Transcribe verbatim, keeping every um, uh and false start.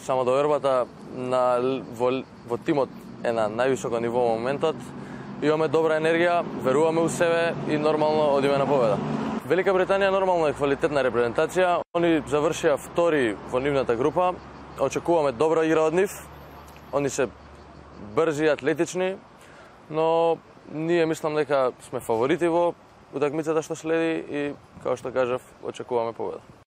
само довербата на во, во тимот е на највисоко ниво во моментот. Имаме добра енергија, веруваме у себе и нормално одиме на победа. Велика Британија нормално е квалитетна репрезентација. Они завршија втори во нивната група. Очекуваме добра игра од нив. Они се брзи, атлетични, но ние мислам дека сме фаворити во утакмицата што следи и, како што кажав, очекуваме победа.